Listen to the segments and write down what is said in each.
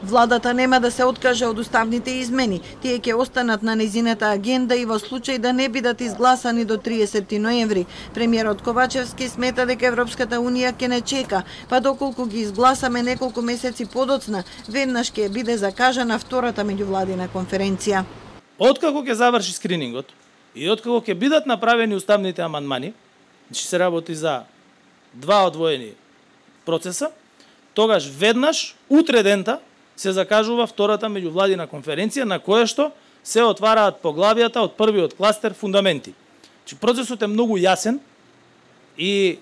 Владата нема да се откаже од уставните измени. Тие ќе останат на незината агенда и во случај да не бидат изгласани до 30 ноември. Премиерот Ковачевски смета дека Европската унија ќе не чека, па доколку ги изгласаме неколку месеци подоцна, веднаш ќе биде закажана втората меѓувладина конференција. Откако ќе заврши скринингот и откако ќе бидат направени уставните амандмани, значи се работи за два одвоени процеса, тогаш веднаш утре дента се закажува втората меѓувладина конференција на која што се отвараат поглавијата од првиот кластер фундаменти. Значи процесот е многу јасен и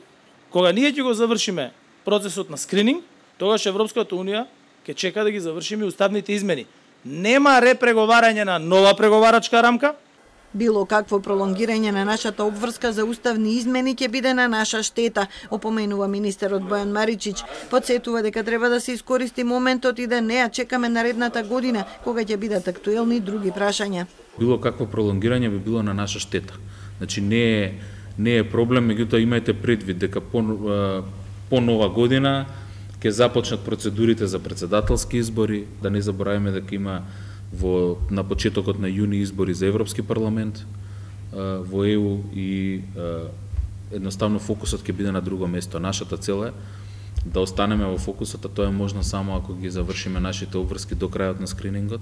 кога ние ќе го завршиме процесот на скрининг, тогаш Европската унија ќе чека да ги завршиме уставните измени. Нема репреговарање на нова преговарачка рамка. Било какво пролонгирање на нашата обврска за уставни измени ќе биде на наша штета, опоменува министерот Бојан Маричич. Подсетува дека треба да се искористи моментот и да не ја чекаме наредната година, кога ќе бидат актуелни други прашања. Било какво пролонгирање би било на наша штета. Значи не е проблем, меѓутоа имајте предвид дека по нова година ќе започнат процедурите за председателски избори, да не забораваме дека има на почетокот на јуни избори за Европски парламент во ЕУ и едноставно фокусот ќе биде на друго место. Нашата цел е да останеме во фокусот, а тоа е можно само ако ги завршиме нашите обврски до крајот на скринингот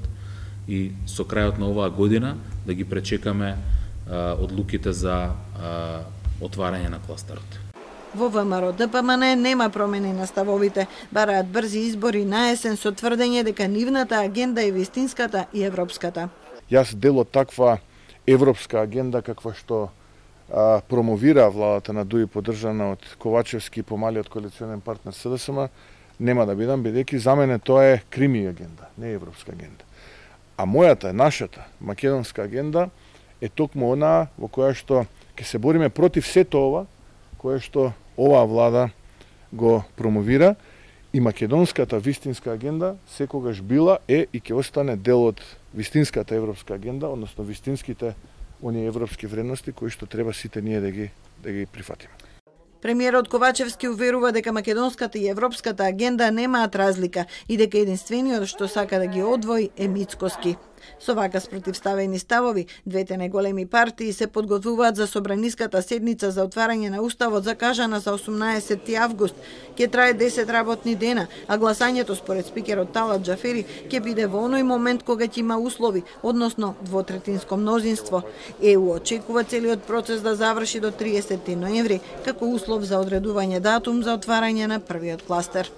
и со крајот на оваа година да ги пречекаме одлуките за отварање на кластерот. Во ВМРО ДПМН нема промени на ставовите. Бараат брзи избори на есен со тврдење дека нивната агенда е вистинската и европската. Јас дел од таква европска агенда каква што промовира владата на ДУИ поддржана од Ковачевски и помалиот коалиционен партнер СДСМ, нема да бидам, бидејќи за мене тоа е крими агенда, не е европска агенда. А мојата, нашата македонска агенда е токму онаа во која што ќе се бориме против сето ова кое што оваа влада го промовира, и македонската вистинска агенда секогаш била е и ќе остане дел од вистинската европска агенда, односно вистинските оние европски вредности кои што треба сите ние да ги прифатиме. Премиерот Ковачевски уверува дека македонската и европската агенда немаат разлика и дека единствениот што сака да ги одвои е Мицкоски. Со вака спротивставени ставови, двете најголеми партии се подготвуваат за собраниската седница за отварање на уставот закажана за 18 август. Ќе трае 10 работни дена, а гласањето според спикерот Талат Џафери ќе биде во оној момент кога ќе има услови, односно двотретинско мнозинство. ЕУ очекува целиот процес да заврши до 30 ноември како услов за одредување датум за отварање на првиот кластер.